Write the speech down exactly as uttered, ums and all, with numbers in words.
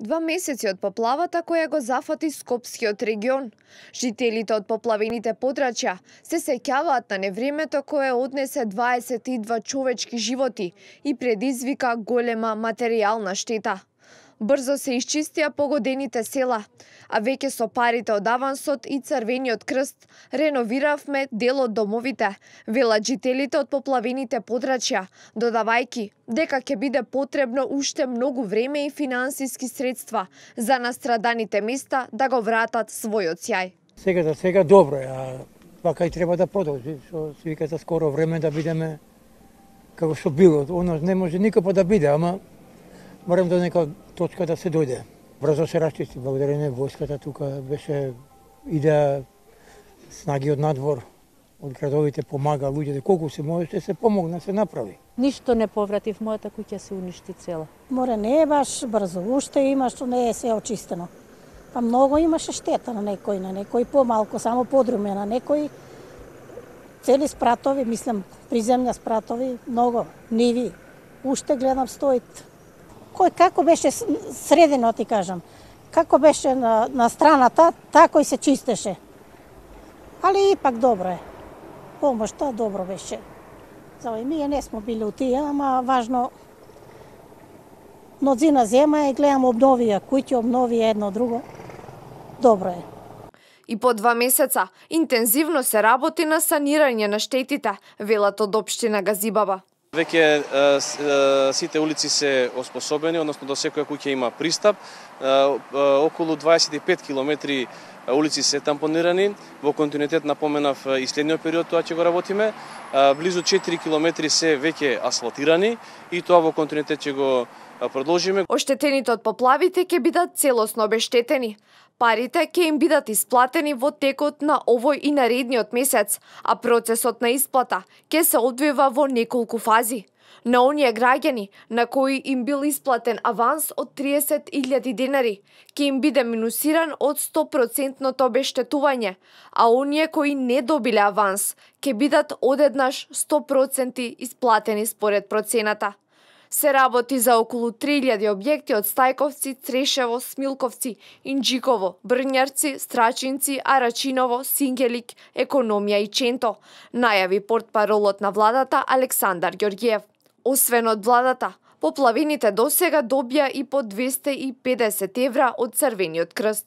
Два месеци од поплавата која го зафати Скопскиот регион. Жителите од поплавените подрачја се сеќаваат на невремето кое однесе дваесет и два човечки животи и предизвика голема материјална штета. Брзо се исчистија погодените села, а веќе со парите од авансот и Црвениот крст реновиравме дел од домовите, велат жителите од поплавените подрачја, додавајќи дека ќе биде потребно уште многу време и финансиски средства за настраданите места да го вратат својот сјај. Сега за сега добро е, а вака и треба да продолжи, што се вика за скоро време да бидеме како што било. Оно не може никако да биде, ама морам до нека точка да се дојде. Брзо се расчисти, благодарение војската тука беше идеја, снаги од надвор, од градовите помага луѓето, колку се можеше се помогна, се направи. Ништо не повратив, мојата куќа се уништи цела. Море не е баш брзо, уште има што не е се очистено. Па многу имаше штета на некој, на некој помалку, само подруме, на некој цели спратови, мислам, приземја спратови, многу, ниви, уште гледам стоит. Кој како беше средено, ти кажам, како беше на, на страната, тако и се чистеше. Али ипак добро е. Помошта добро беше. За и ние не сме били у тие, ама важно мнозина зема и гледам обновија куќи, обновија едно друго. Добро е. И по два месеца интензивно се работи на санирање на штетите, велат од општина Газибаба. Веќе сите улици се оспособени, односно до секоја куќа има пристап. Околу дваесет и пет километри улици се тампонирани. Во континуитет напоменав и следниот период тоа ќе го работиме. Близу четири километри се веќе асфалтирани и тоа во континуитет ќе го продолжиме. Оштетените од поплавите ќе бидат целосно обештетени. Парите ќе им бидат исплатени во текот на овој и наредниот месец, а процесот на исплата ќе се одвива во неколку фази. На оние граѓани на кои им бил исплатен аванс од триесет илјади денари, ќе им биде минусиран од сто проценти обештетување, а оние кои не добиле аванс ќе бидат одеднаш сто проценти исплатени според процената. Се работи за околу три илјади објекти од Стајковци, Црешево, Смилковци, Инџиково, Брњарци, Страчинци, Арачиново, Сингелик, Економија и Ченто, најави портпаролот на владата Александар Ѓорѓиев. Освен од владата, поплавените досега добија и по двесте и педесет евра од Црвениот крст.